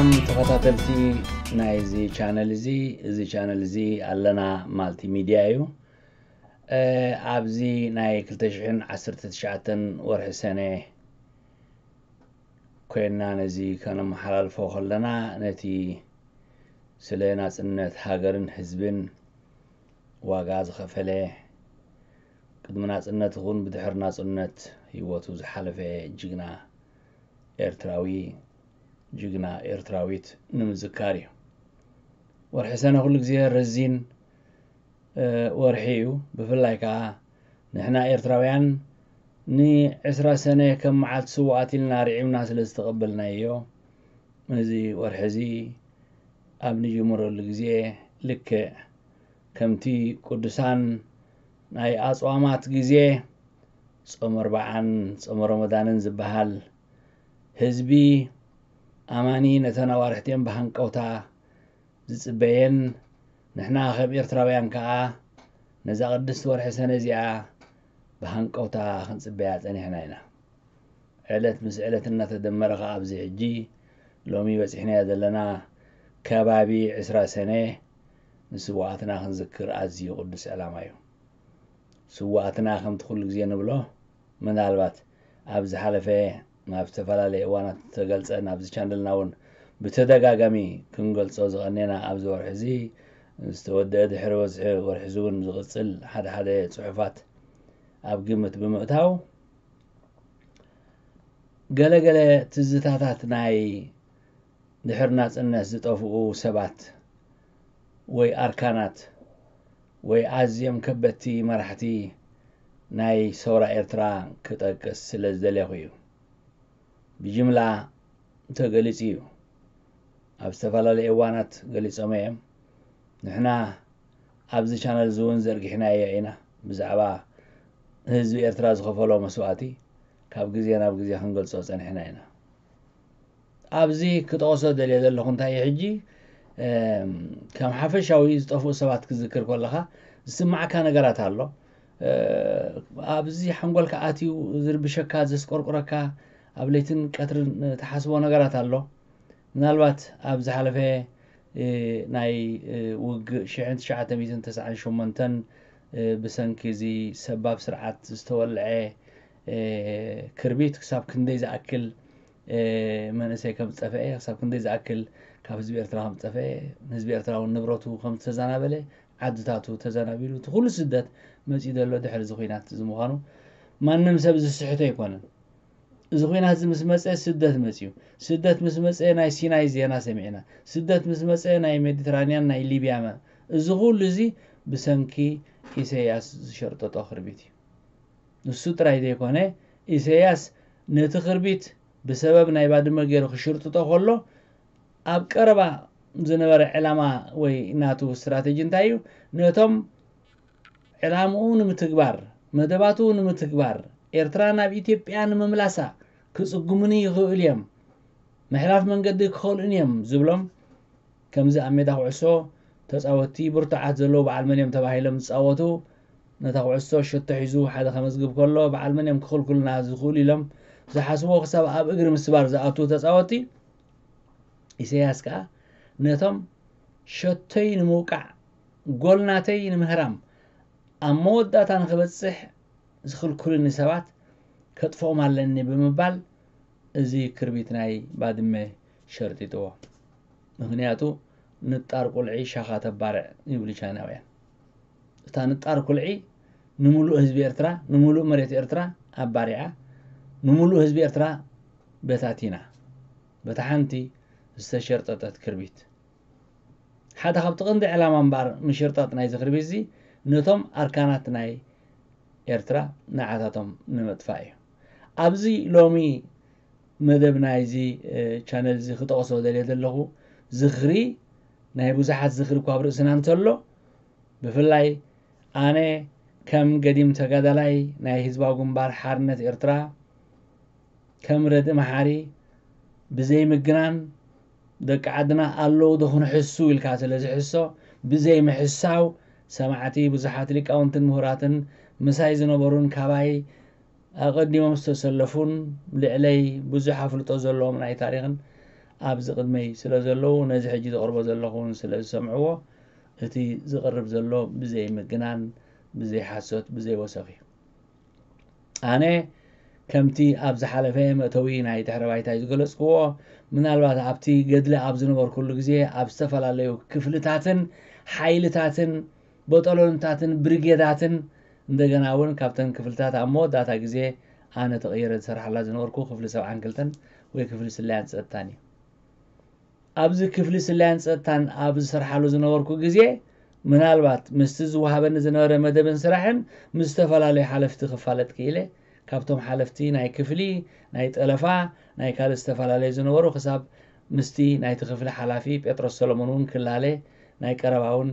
ተኸታተልቲ ናይዚ ቻነል እዚ፣ እዚ ቻነል እዚ ኣለና ማልቲ ሚድያ እዩ። ኣብዚ ናይ ክልተ ሽሕን ዓሰርተ ትሽዓተን ወርሒ ሰነ ኮይንና ነዚ ከነመሓላልፎ ከለና፣ ነቲ ስለ ናጽነት ሃገርን ህዝብን ዋጋ ዝኸፈለ፣ ቅድሚ ናጽነት ይኹን ብድሕሪ ናጽነት ህይወቱ ዝሓለፈ ጅግና ኤርትራዊ፣ ጅግና ኤርትራዊት ንምዝካር እዩ። ወርሒ ሰነ ኩሉ ግዜ ረዚን ወርሒ እዩ። ብፍላይ ከኣ ንሕና ኤርትራውያን ንዕስራ ሰነ ከም መዓልቲ ስውኣት ኢልና ርዒምና ስለ ዝተቐበልናዮ፣ እዚ ወርሒ እዚ ኣብ ንጅምረሉ ግዜ፣ ልክዕ ከምቲ ቅዱሳን ናይ ኣጽዋማት ግዜ፣ ጾመ ኣርብዓን ጾመ ረመዳንን ዝበሃል፣ ህዝቢ ኣማኒ ነተን ኣዋርሕቲኦም ብሃንቀውታ ዝጽበየን፣ ንሕና ከም ኤርትራውያን ከኣ ነዛ ቅድስቲ ወርሒ ሰነ እዚኣ ብሃንቀውታ ክንጽበያ ጸኒሕና ኢና። ዕለት ምስ ዕለት እናተደመረ ከኣ ኣብዚ ሕጂ ሎሚ በጺሕናዮ ዘለና ከባቢ ዕስራ ሰነ ንስውኣትና ክንዝክር ኣዝዩ ቅዱስ ዕላማ እዩ። ስውኣትና ከምቲ ኩሉ ግዜ ንብሎ፣ ምናልባት ኣብ ዝሓለፈ ኣብ ዝተፈላለየ እዋናት ዝተገልጸ፣ ናብዚ ቻነልና እውን ብተደጋጋሚ ክንገልጾ ዝቐኔና፣ ኣብዚ ወርሒ እዚ ዝተወደአ ድሕሪ በዝሒ ወርሒ እዚ እውን ዝቕጽል ሓደ ሓደ ጽሑፋት ኣብ ግምት ብምእታው፣ ገለ ገለ ትዝታታት ናይ ድሕሪ ናጽነት ዝጠፍኡ ሰባት ወይ ኣርካናት ወይ ኣዝዮም ከበድቲ መራሕቲ ናይ ሰውራ ኤርትራ ክጠቅስ ስለ ዝደለኹ እዩ። ብጅምላ ተገሊጹ እዩ። ኣብ ዝተፈላለዩ እዋናት ገሊጾም እዮም። ንሕና ኣብዚ ቻነል እዚ እውን ዘርጊሕናዮ ኢና። ብዛዕባ ህዝቢ ኤርትራ ዝኸፈሎ መስዋእቲ ካብ ግዜ ናብ ግዜ ክንገልጾ ጸኒሕና ኢና። ኣብዚ ክጠቕሶ ደልየ ዘለኹ እንታይ እዩ፣ ሕጂ፣ እም፣ ከም ሓፈሻዊ ዝጠፍኡ ሰባት ክዝክር ከለኻ ዝስማዓካ ነገራት ኣሎ። እ፣ ኣብዚ ሓንጎልካ ኣትዩ ዝርብሸካ፣ ዘስቆርቁረካ፣ ኣብ ለይትን ቀትርን ትሓስቦ ነገራት ኣሎ። ምናልባት ኣብ ዝሓለፈ፣ እ፣ ናይ፣ እ፣ ውግእ ሽሕን ትሽዓተ ሚእትን ተስዓን ሸሞንተን፣ እ፣ ብሰንኪ እዚ ሰባብ ስርዓት ዝተወልዐ፣ እ፣ ክርቢት ክሳብ ክንደይ ዝኣክል፣ እ፣ መንእሰይ ከም ዝጠፍአ፣ ክሳብ ክንደይ ዝኣክል ካብ ህዝቢ ኤርትራ ከም ዝጠፍአ፣ ህዝቢ ኤርትራ እውን ንብረቱ ከም ዝተዘናበለ፣ ዓድታቱ ተዘናቢሉ፣ እቲ ኩሉ ስደት መጺኡ ዘሎ ድሕሪ እዚ ኲናት እዚ ምዃኑ ማንም ሰብ ዝስሕቶ ኣይኮነን። እዚ ኲናት እዚ ምስ መጸ ስደት መጺኡ። ስደት ምስ መጸ ናይ ሲናይ ዜና ሰሚዕና። ስደት ምስ መጸ ናይ ሜዲትራንያን፣ ናይ ሊብያ መ-፣ እዚ ኩሉ እዚ ብሰንኪ ኢሰያስ ዝሸርጠጦ ክርቢት እዩ። ንሱ ጥራይ ዘይኮነ፣ ኢሰያስ ነቲ ክርቢት ብሰበብ ናይ ባድመ ገይሩ ክሽርጥጦ ከሎ፣ ኣብ ቀረባ ዝነበረ ዕላማ ወይ ናቱ ስትራተጂ እንታይ እዩ? ነቶም ዕላምኡ ንምትግባር፣ መደባቱ ንምትግባር፣ ኤርትራ ናብ ኢትዮጵያ ንምምላሳ ክጽጉሙኒ ይኽእሉ እዮም፣ ምሕላፍ መንገዲ ክኸልኡኒ እዮም ዝብሎም፣ ከምዚ ኣብ ሜዳ ኩዕሶ ተጻወትቲ ብርቱዓት ዘለዉ በዓል መን እዮም ተባሂሎም ዝጻወቱ፣ ነታ ኩዕሶ ሸቶ ሒዙ ሓደ ከመዝግብ ከሎ፣ በዓል መን እዮም ክኽልኩልና ዝኽእሉ ኢሎም ዝሓስብዎ ክሳብ ኣብ እግሪ ምስባር ዝኣትዉ ተጻወትቲ፣ ኢሰያስ ከኣ ነቶም ሸቶይ ንምውቃዕ፣ ጎል ናተይ ንምህራም፣ ኣብ መወዳእታ ንኽበጽሕ ዝኽልኩልኒ ሰባት ከጥፍኦም ኣለኒ ብምባል፣ እዚ ክርቢት ናይ ባድመ ሸርጢጥዎ። ምኽንያቱ፣ "ንጣር ቁልዒ ሻኻ ተባርዕ" ይብሉ ቻይናውያን። እታ ንጣር ቁልዒ ንምሉእ ህዝቢ ኤርትራ፣ ንምሉእ መሬት ኤርትራ ኣባሪዓ፣ ንምሉእ ህዝቢ ኤርትራ በታቲና። በታ ሓንቲ ዝተሸርጠጠት ክርቢት። ሓደ ካብቲ ቀንዲ ዕላማ እምበኣር ምሽርጣጥ ናይዚ ክርቢት እዚ፣ ነቶም ኣርካናት ናይ ኤርትራ ንዓታቶም ንምጥፋእ እዩ። ኣብዚ ሎሚ መደብ ናይዚ፣ እ፣ ቻነል እዚ ክጠቕሶ ደልየ ዘለኹ፣ ዝኽሪ ናይ ብዙሓት ዝኽሪ እኳ ኣብ ርእስና እንተሎ፣ ብፍላይ ኣነ ከም ገዲም ተጋዳላይ ናይ ህዝባዊ ግንባር ሓርነት ኤርትራ፣ ከም ረድኢ መሓሪ ብዘይምግናን፣ ደቂ ዓድና ኣለዉ ዶ ክንሕሱ ኢልካ ስለ ዝሕሶ፣ ብዘይምሕሳው፣ ሰማዕቲ ብዙሓት ሊቃውንትን ምሁራትን ምሳይ ዝነበሩን ካባይ ኣቐዲሞም ዝተሰለፉን ልዕለይ ብዙሕ ኣፍልጦ ዘለዎም ናይ ታሪኽን ኣብዚ ቅድመይ ስለ ዘለዉ፣ ነዚ ሕጂ ዘቕርቦ ዘለኹ እውን ስለ ዝሰምዕዎ፣ እቲ ዝቐርብ ዘሎ ብዘይ ምግናን፣ ብዘይ ሓሶት፣ ብዘይ ወሰኽ እዩ። ኣነ ከምቲ ኣብ ዝሓለፈ መእተዊ ናይ ድሕረ ባይታይ ዝገለጽክዎ፣ ምናልባት ኣብቲ ገድሊ ኣብ ዝነበርኩሉ ግዜ ኣብ ዝተፈላለዩ ክፍልታትን ሓይልታትን በጠሎንታትን ብሪጌዳትን፣ እንደገና እውን ካብተን ክፍልታት ኣብ መወዳእታ ግዜ ኣነ ተቐይረ ዝሰርሓላ ዝነበርኩ ክፍሊ ሰብዓን ክልተን ወይ ክፍሊ ስለያን ጸጥታን እዩ። ኣብዚ ክፍሊ ስለያን ጸጥታን ኣብ ዝሰርሓሉ ዝነበርኩ ግዜ፣ ምናልባት ምስቲ ዝወሃበኒ ዝነበረ መደብን ስራሕን ምስ ዝተፈላለዩ ሓለፍቲ ክፋለጥ ክኢለ። ካብቶም ሓለፍቲ ናይ ክፍሊ፣ ናይ ጠለፋ፣ ናይ ካልእ ዝተፈላለዩ ዝነበሩ፣ ክሳብ ምስቲ ናይቲ ክፍሊ ሓላፊ ጴጥሮስ ሰሎሞን እውን ክላለ ናይ ቀረባ እውን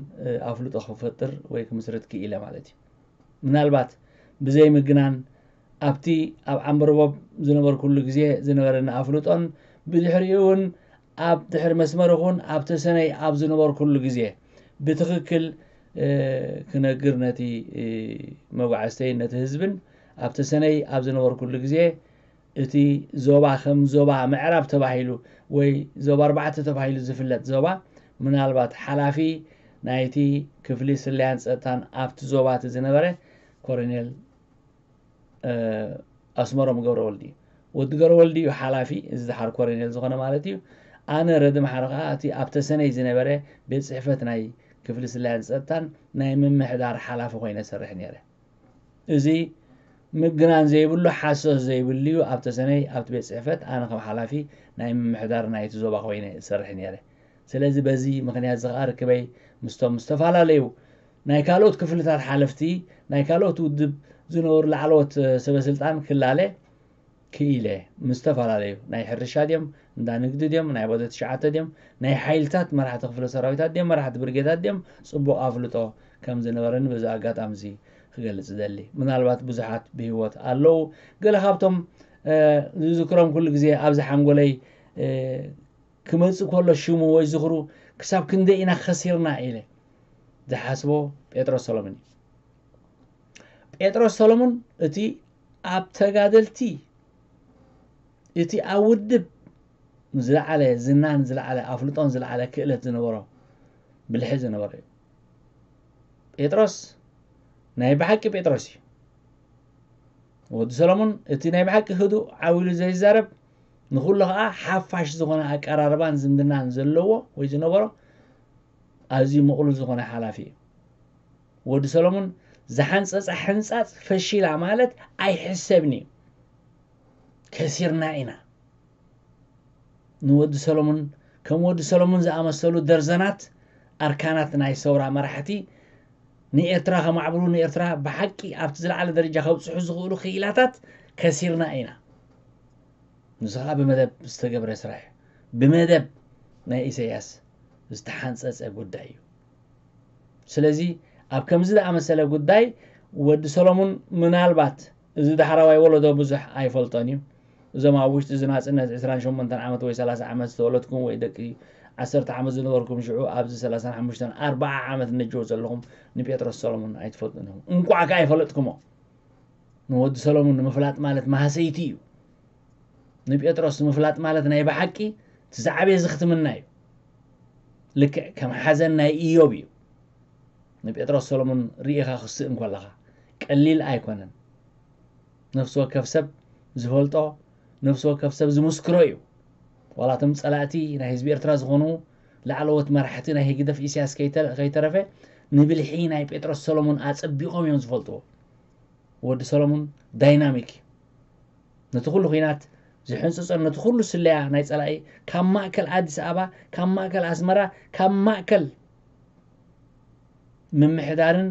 ኣፍልጦ ክፈጥር ወይ ክምስርት ክኢለ ማለት እዩ። ምናልባት ብዘይ ምግናን ኣብቲ ኣብ ዓምበርቦብ ዝነበርኩሉ ግዜ ዝነበረኒ ኣፍልጦን ብድሕሪኡ እውን ኣብ ድሕሪ መስመር ይኹን ኣብ ተሰነይ ኣብ ዝነበርኩሉ ግዜ ብትኽክል ክነግር ነቲ መጓዕዝተይን ነቲ ህዝብን ኣብ ተሰነይ ኣብ ዝነበርኩሉ ግዜ እቲ ዞባ ከም ዞባ ምዕራብ ተባሂሉ ወይ ዞባ ኣርባዕተ ተባሂሉ ዝፍለጥ ዞባ ምናልባት ሓላፊ ናይቲ ክፍሊ ስለያን ጸጥታን ኣብቲ ዞባ እቲ ዝነበረ ኮሎኔል ኣስመሮም ገብረወልዲ እዩ። ወዲ ገብረወልዲ እዩ ሓላፊ እዚ ድሓር ኮሎኔል ዝኾነ ማለት እዩ። ኣነ ረዲ ማሕረ ከዓ እቲ ኣብ ተሰነይ ዝነበረ ቤት ጽሕፈት ናይ ክፍሊ ስለያን ጸጥታን ናይ ምምሕዳር ሓላፊ ኮይነ ሰርሕ ነይረ። እዚ ምግናን ዘይብሉ ሓሶት ዘይብሉ እዩ። ኣብ ተሰነይ ኣብቲ ቤት ጽሕፈት ኣነ ከም ሓላፊ ናይ ምምሕዳር ናይቲ ዞባ ኮይነ እሰርሕ ነይረ። ስለዚ በዚ ምኽንያት እዚ ከዓ ርክበይ ምስቶም ዝተፈላለዩ ናይ ካልኦት ክፍልታት ሓለፍቲ ናይ ካልኦት ውድብ ዝነበሩ ላዕለዎት ሰበ ስልጣን ክላለ ክኢለ ምስ ዝተፈላለዩ ናይ ሕርሻ ድዮም እንዳ ንግዲ ድዮም ናይ ቦተ ትሽዓተ ድዮም ናይ ሓይልታት መራሕቲ ክፍለ ሰራዊታት ድዮም መራሕቲ ብርጌታት ድዮም ጽቡቕ ኣፍልጦ ከም ዝነበረኒ በዚ ኣጋጣሚ እዚ ክገልጽ ደሊ። ምናልባት ብዙሓት ብህይወት ኣለዉ። ገለ ካብቶም ዝዝክሮም ኩሉ ግዜ ኣብዚ ሓንጎለይ ክመጽእ ከሎ ሽሙ ወይ ዝኽሩ ክሳብ ክንደይ ኢና ከሲርና ኢለ ዝሓስቦ ጴጥሮስ ሰሎሞን እዩ። ጴጥሮስ ሰሎሞን እቲ ኣብ ተጋደልቲ እቲ ኣብ ውድብ ዝለዓለ ዝናን ዝለዓለ ኣፍልጦን ዝለዓለ ክእለት ዝነበሮ ብልሒ ዝነበሮ እዩ። ጴጥሮስ ናይ ብሓቂ ጴጥሮስ እዩ። ወዲ ሰሎሞን እቲ ናይ ብሓቂ ህዱእ ዓው ኢሉ ዘይዛረብ ንኹሉ ከዓ ሓፋሽ ዝኾነ ኣቀራርባን ዝምድናን ዘለዎ ወይ ዝነበሮ ኣዝዩ ምቕሉል ዝኾነ ሓላፊ እዩ። ወዲ ሰሎሞን ዝሓንፀፃ ሕንፃፅ ፈሺላ ማለት ኣይሕሰብን እዩ። ከሲርና ኢና። ንወዲ ሰሎሞን ከም ወዲ ሰሎሞን ዝኣመሰሉ ደርዘናት ኣርካናት ናይ ሰውራ መራሕቲ ንኤርትራ ከማዕብሉ ንኤርትራ ብሓቂ ኣብቲ ዝለዓለ ደረጃ ከብፅሑ ዝኽእሉ ክኢላታት ከሲርና ኢና። ንዚ ከዓ ብመደብ ዝተገብረ ስራሕ እዩ። ብመደብ ናይ ኢሳያስ ዝተሓንፀፀ ጉዳይ እዩ። ስለዚ ኣብ ከምዚ ዝኣመሰለ ጉዳይ ወዲ ሰሎሙን ምናልባት እዚ ዳሕራዋይ ወለዶ ብዙሕ ኣይፈልጦን እዩ። እዞም ኣብ ውሽጢ እዚ ናፅነት ዕስራን ሸሞንተን ዓመት ወይ ሰላሳ ዓመት ዝተወለድኩም ወይ ደቂ ዓሰርተ ዓመት ዝነበርኩም ሽዑ ኣብዚ ሰላሳን ሓሙሽተን ኣርባዓ ዓመት ነጀው ዘለኹም ንጴጥሮስ ሰሎሙን ኣይትፈልጡን ኢኹም። እንቋዕ ከ ኣይፈለጥኩሞ። ንወዲ ሰሎሙን ንምፍላጥ ማለት ማህሰይቲ እዩ። ንጴጥሮስ ምፍላጥ ማለት ናይ ብሓቂ እቲ ዝዓበየ ዝኽትምና እዩ። ልክዕ ከም ሓዘን ናይ ኢዮብ እዩ። ንጴጥሮስ ሰሎሙን ርኢኻ ክስእ እንከለኻ ቀሊል ኣይኮነን። ነፍሲ ወከፍ ሰብ ዝፈልጦ ነፍሲ ወከፍ ሰብ ዝምስክሮ እዩ። ዋላ እቶም ጸላእቲ ናይ ህዝቢ ኤርትራ ዝኾኑ ላዕለዎት መራሕቲ ናይ ህግደፍ ኢሳያስ ከይተ- ከይተረፈ ንብልሒ ናይ ጴጥሮስ ሰሎሙን ኣጸቢቖም እዮም ዝፈልጥዎ። ወዲ ሰሎሙን ዳይናሚክ እዩ። ነቲ ኩሉ ኹናት ዝሕንፅፀን ነቲ ኩሉ ስለያ ናይ ፀላኢ ካብ ማእከል ኣዲስ ኣበባ ካብ ማእከል ኣስመራ ካብ ማእከል ምምሕዳርን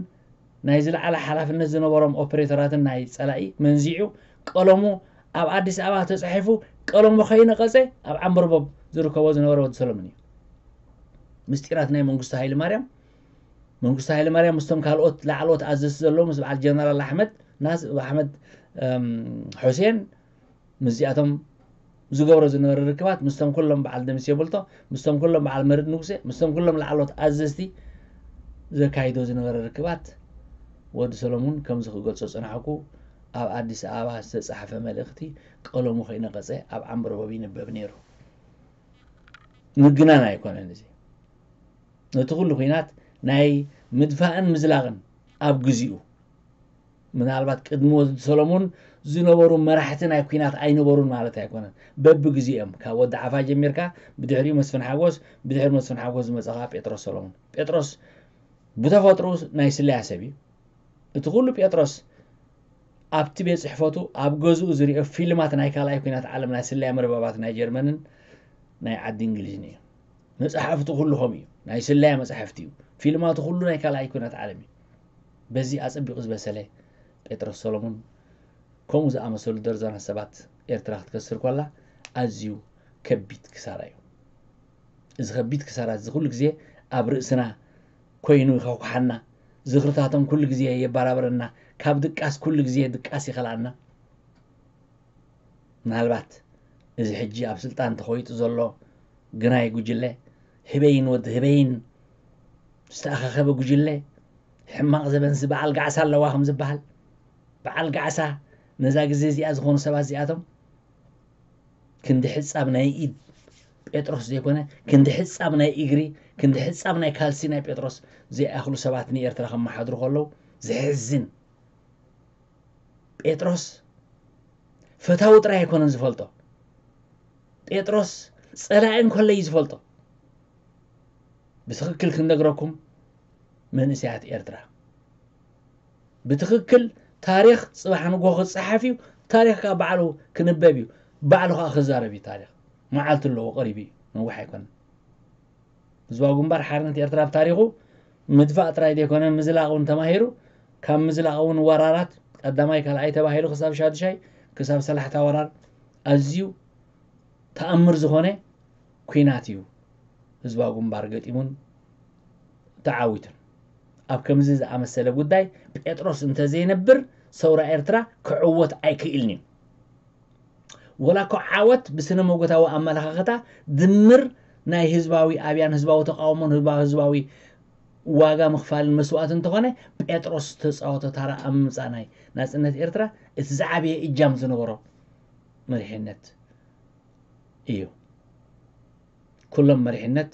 ናይ ዝለዓለ ሓላፍነት ዝነበሮም ኦፕሬተራትን ናይ ፀላኢ መንዚዑ ቀለሙ ኣብ ኣዲስ ኣበባ ተፃሒፉ ቀለሙ ከይነቐፀ ኣብ ዓምበርቦብ ዝርከቦ ዝነበረ ወዲ ሰሎሙን እዩ። ምስጢራት ናይ መንግስቱ ሃይለ ማርያም መንግስቱ ሃይለ ማርያም ምስቶም ካልኦት ላዕለዎት ኣዘዝቲ ዘለዉ ምስ በዓል ጀነራል ኣሕመድ ናስ ኣሕመድ ሑሴን ምስዚኣቶም ዝገብሮ ዝነበረ ርክባት ምስቶም ኩሎም በዓል ደምሴ ብልቶ ምስቶም ኩሎም በዓል መርድ ንጉሴ ምስቶም ኩሎም ላዕሎት ኣዘዝቲ ዘካይዶ ዝነበረ ርክባት ወዲ ሰሎሙን ከምዚ ክገልጾ ጸናሕኩ ኣብ ኣዲስ ኣበባ ዝተጻሕፈ መልእኽቲ ቀለሙ ከይነቐጸ ኣብ ዓምበርቦብ ይንበብ ነይሩ። ምግናን ኣይኮነን። እዚ ነቲ ኩሉ ኩናት ናይ ምድፋእን ምዝላቕን ኣብ ግዚኡ፣ ምናልባት ቅድሚ ወዲ ሰሎሞን ዝነበሩ መራሕቲ ናይ ኩናት ኣይነበሩን ማለት ኣይኮነን። በብግዚኦም ካብ ወዲ ዓፋ ጀሚርካ፣ ብድሕሪኡ መስፍን ሓጎስ፣ ብድሕሪ መስፍን ሓጎስ ዝመጸኻ ጴጥሮስ ሰሎሞን። ጴጥሮስ ብተፈጥሮ ናይ ስለያ ሰብ እዩ። እቲ ኩሉ ጴጥሮስ ኣብቲ ቤት ጽሕፈቱ ኣብ ገዝኡ ዝሪኦ ፊልማት ናይ ካልኣይ ኩናት ዓለም ናይ ስለያ መርበባት ናይ ጀርመንን ናይ ዓዲ እንግሊዝን እዩ። መጽሓፍቱ ኩሉ ከምኡ እዩ። ናይ ስለያ መጽሓፍቲ እዩ። ፊልማቱ ኩሉ ናይ ካልኣይ ኩናት ዓለም እዩ። በዚ ኣጸቢቑ ዝበሰለ ጴጥሮስ ሰሎሙን ከምኡ ዝኣመሰሉ ደርዘናት ሰባት ኤርትራ ክትከስር ከላ ኣዝዩ ከቢድ ክሳራ እዩ። እዚ ከቢድ ክሳራ እዚ ኩሉ ግዜ ኣብ ርእስና ኮይኑ ይኸኩሓና፣ ዝኽርታቶም ኩሉ ግዜ የባራብረና፣ ካብ ድቃስ ኩሉ ግዜ ድቃስ ይኸልኣና። ምናልባት እዚ ሕጂ ኣብ ስልጣን ተኾይጡ ዘሎ ግናይ ጉጅለ፣ ህበይን ወዲ ህበይን ዝተኣኻኸበ ጉጅለ፣ ሕማቕ ዘበንሲ በዓል ጋዕሳ ኣለዋ ከም ዝበሃል፣ በዓል ጋዕሳ ነዛ ግዜ እዚኣ ዝኾኑ ሰባት እዚኣቶም ክንዲ ሕጻብ ናይ ኢድ ጴጥሮስ ዘይኮነ፣ ክንዲ ሕጻብ ናይ እግሪ፣ ክንዲ ሕጻብ ናይ ካልሲ ናይ ጴጥሮስ ዘይኣኽሉ ሰባት ንኤርትራ ከመሓድሩ ከለዉ ዘሕዝን። ጴጥሮስ ፈታዊ ጥራይ ኣይኮነን ዝፈልጦ። ጴጥሮስ ጸላኢ እንከሎ እዩ ዝፈልጦ። ብትኽክል ክንነግረኩም መንእሰያት ኤርትራ፣ ብትኽክል ታሪኽ ጽባሕ ንግሆ ክጸሓፍ እዩ። ታሪኽ ከኣ ባዕሉ ክንበብ እዩ። ባዕሉ ከኣ ክዛረብ እዩ። ታሪኽ መዓልቲ ኣለዎ፣ ቀሪቡ እዩ፣ ነዊሕ ኣይኮነን። ህዝባዊ ግንባር ሓርነት ኤርትራ ኣብ ታሪኹ ምድፋእ ጥራይ ዘይኮነ ምዝላቕ እውን ተማሂሩ። ካብ ምዝላቕ እውን ወራራት ቀዳማይ ካልኣይ ተባሂሉ ክሳብ ሻዱሻይ ክሳብ ሰላሕታ ወራር ኣዝዩ ተኣምር ዝኾነ ኲናት እዩ ህዝባዊ ግንባር ገጢሙን ተዓዊቱን። ኣብ ከምዚ ዝኣመሰለ ጉዳይ ጴጥሮስ እንተዘይነብር ሰውራ ኤርትራ ክዕወት ኣይክእልን እዩ። ወላ እኮ ዓወት ብስነ መጎታዊ ኣመለኻኽታ ድምር ናይ ህዝባዊ ኣብያን ህዝባዊ ተቃውሞን ህዝባዊ ህዝባዊ ዋጋ ምኽፋልን መስዋእቲ እንተኾነ ጴጥሮስ ዝተፃወቶ ታራ ኣብ ምምፃእ ናይ ናፅነት ኤርትራ እቲ ዝዓበየ እጃም ዝነበሮ መሪሕነት እዩ። ኩሎም መሪሕነት፣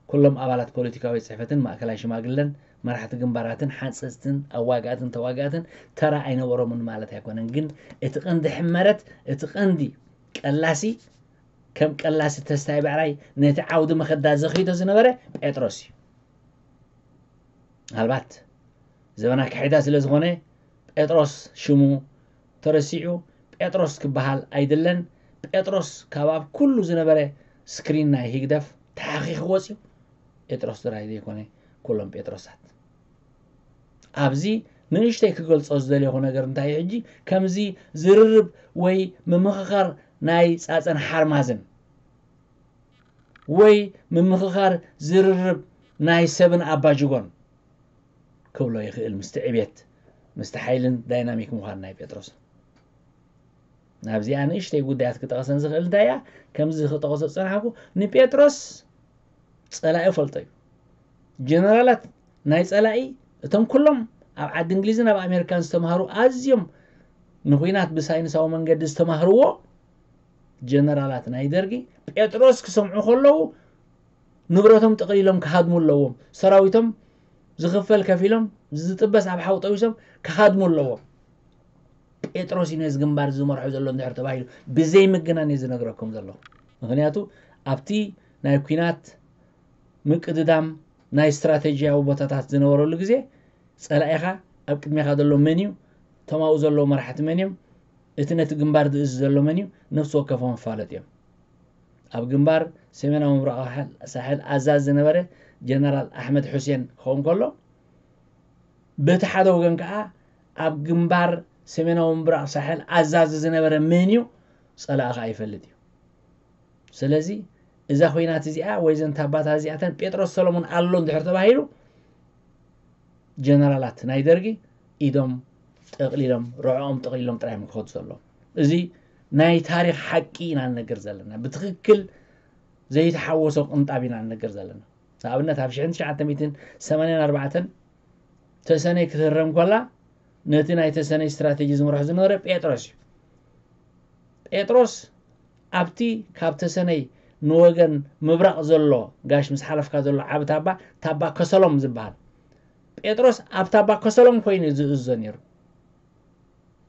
ኩሎም ኣባላት ፖለቲካዊ ጽሕፈትን ማእከላይ ሽማግለን መራሕቲ ግንባራትን ሓንጸጽትን ኣዋጋእትን ተዋጋእትን ተራ ኣይነበሮምን ማለት ኣይኮነን። ግን እቲ ቀንዲ ሕመረት፣ እቲ ቀንዲ ቀላሲ፣ ከም ቀላሲ ተስታይ ብዕራይ ነቲ ዓውዲ መኸዳ ዘኺዶ ዝነበረ ጴጥሮስ እዩ። ምናልባት ዘበና ክሒዳ ስለ ዝኾነ ጴጥሮስ ሽሙ ተረሲዑ ጴጥሮስ ክበሃል ኣይድለን። ጴጥሮስ ካብ ኣብ ኩሉ ዝነበረ ስክሪን ናይ ህግደፍ ተሓኺኹ ወፂኡ። ጴጥሮስ ጥራይ ዘይኮነ ኩሎም ጴጥሮሳት። ኣብዚ ንእሽተይ ክገልጾ ዝደለኹ ነገር እንታይ እዩ? ሕጂ ከምዚ ዝርርብ ወይ ምምኽኻር ናይ ጻጸን ሓርማዝን ወይ ምምኽኻር ዝርርብ ናይ ሰብን ኣባጅጎን ክብሎ ይኽእል፣ ምስቲ ዕቤት፣ ምስቲ ሓይልን ዳይናሚክ ምዃን ናይ ጴጥሮስ። ናብዚኣ ንእሽተይ ጉዳያት ክጠቕሰን ዝኽእል እንታይ እያ? ከምዚ ክጠቕሶ ዝጸናሕኩ፣ ንጴጥሮስ ጸላኢ ፈልጦ እዩ። ጀነራላት ናይ ጸላኢ፣ እቶም ኩሎም ኣብ ዓዲ እንግሊዝን ኣብ ኣሜሪካን ዝተምሃሩ ኣዝዮም ንኹናት ብሳይንሳዊ መንገዲ ዝተማህርዎ ጀነራላት ናይ ደርጊ ጴጥሮስ ክሰምዑ ከለዉ ንብረቶም ጠቕሊሎም ክሃድሙ ኣለዎም። ሰራዊቶም ዝኽፈል ከፊሎም ዝጥበስ ኣብ ሓዊ ጠቢሶም ክሃድሙ ኣለዎም። ጴጥሮስ እዩ ነዚ ግንባር ዝመርሖ ዘሎ እንድሕር ተባሂሉ ብዘይ ምግናን እየ ዝነግረኩም ዘለኹ። ምኽንያቱ ኣብቲ ናይ ኲናት ምቅድዳም ናይ ስትራቴጂያዊ ቦታታት ዝነበረሉ ግዜ ጸላኢኻ ኣብ ቅድሜኻ ዘሎ መን እዩ? እቶም ኣብኡ ዘለዉ መራሕቲ መን እዮም? እቲ ነቲ ግንባር ዝእዝ ዘሎ መን እዩ? ነፍሲ ወከፎም ይፋለጡ እዮም። ኣብ ግንባር ሰሜናዊ ምብራቕ ሳሕል ኣዛዚ ዝነበረ ጀነራል ኣሕመድ ሑሴን ክኸውን ከሎ፣ በቲ ሓደ ወገን ከኣ ኣብ ግንባር ሰሜናዊ ምብራቕ ሳሕል ኣዛዚ ዝነበረ መን እዩ? ጸላኢ ከኣ ይፈልጥ እዩ። ስለዚ እዛ ኹናት እዚኣ ወይ ዘን ታባታት እዚኣተን ጴጥሮስ ሰሎሞን ኣሎ እንድሕር ተባሂሉ፣ ጀነራላት ናይ ደርጊ ኢዶም ጠቕሊሎም፣ ርዕኦም ጠቕሊሎም ጥራይ እዮም ክኸዱ ዘለዎም። እዚ ናይ ታሪኽ ሓቂ ኢና ንነግር ዘለና። ብትኽክል ዘይተሓወሶ ቅንጣብ ኢና ንነግር ዘለና። ንኣብነት ኣብ ሽሕን ትሽዓተ ሚእትን ሰማንያን ኣርባዕተን ተሰነይ ክትህረም ከላ ነቲ ናይ ተሰነይ ስትራቴጂ ዝመርሖ ዝነበረ ጴጥሮስ እዩ። ጴጥሮስ ኣብቲ ካብ ተሰነይ ንወገን ምብራቕ ዘሎ ጋሽ ምስ ሓለፍካ ዘሎ ዓቢ ታባ፣ ታባ ከሰሎም ዝበሃል። ጴጥሮስ ኣብ ታባ ከሰሎም ኮይኑ እዩ ዝእዝዞ ነይሩ።